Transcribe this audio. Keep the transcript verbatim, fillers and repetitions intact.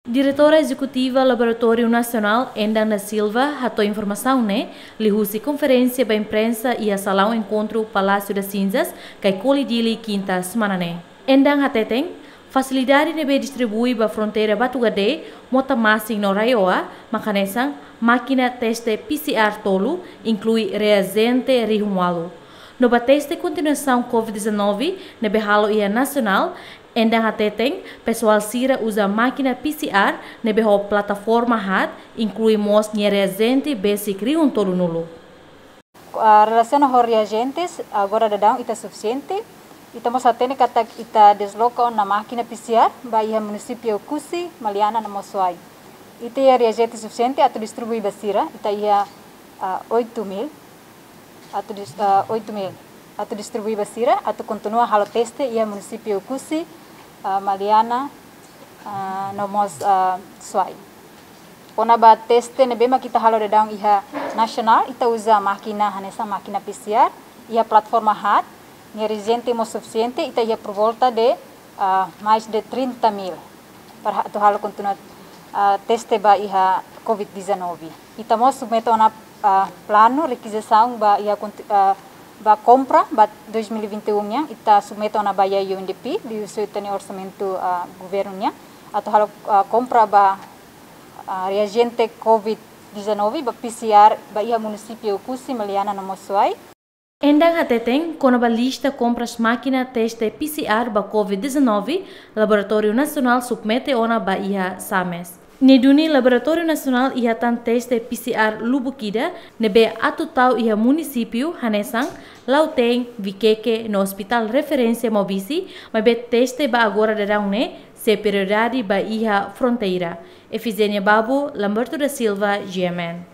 Diretora Ezekutiva Laboratóriu Nasionál, Endang da Silva, hato'o informasaun ne'e liuhusi konferénsia ba imprensa iha salaun enkontru Palácio das Cinzas, Caicoli, Dili, kinta semana ne'e. Endang hateten, fasilidade ne'ebé distribui ba fronteira Batugade, Motamasin no RAEOA, mak hanesan mákina teste P C R tolu, inklui reajente rihun ualu. No ba teste kontinuasaun COVID dezanove ne'ebé halo iha nasionál, Endang hateten, pesoál sira uza mákina P C R ne'ebé ho plataforma haat, inklui mós nia reajente besik rihun tolunulu. Ah, relasiona ho reajentes, agora daudaun ita sufisiente. Ita mós hatene katak ita desloka ona mákina P C R ba iha munisípiu Oekusi, Maliana no mós Suai. Ita iha reajente sufisiente atu distribui ba sira, ita iha, ah, oito mil. Atu dis-, ah, oito mil. Atu distribui ba sira, atu kontinua halo teste iha munisípiu Oekusi, ah, Maliana, ah, no mós, ah, Suai. Kona-ba teste ne'ebé mak ita halo daudaun iha nasionál, ita uza mákina hanesan mákina P C R, iha plataforma haat, nia reajente mós sufisiente, ita iha por volta de, ah, mais de trinta mil para atu halo kontinua, ah, teste ba iha COVID dezanove. Ita mós submete ona, ah, planu, rekizisaun ba iha konti-, ah, ba kompra ba dois mil e vinte e um nian, ita submete ona ba iha U N D P, liuhusi ita-nia orsamentu, ah, governu nian, atu halo, ah, kompra ba, ah, reajente COVID dezanove ba P C R ba iha munisípiu Oekusi, Maliana no mós Suai. Endang hateten, kona-ba lista kompras mákina teste P C R ba COVID dezanove, Laboratóriu Nasionál submete ona ba iha SAMES. Ne'e duni Laboratóriu Nasionál iha tan teste P C R lubuk ida ne'ebé atu tau iha munisípiu hanesan Lautein, Viqueque no Hospital Referência Maubisse, maibé teste ba agora daudaun ne'e sei prioridade ba iha fronteira. Efigénia Babo, Lamberto da Silva, G M N.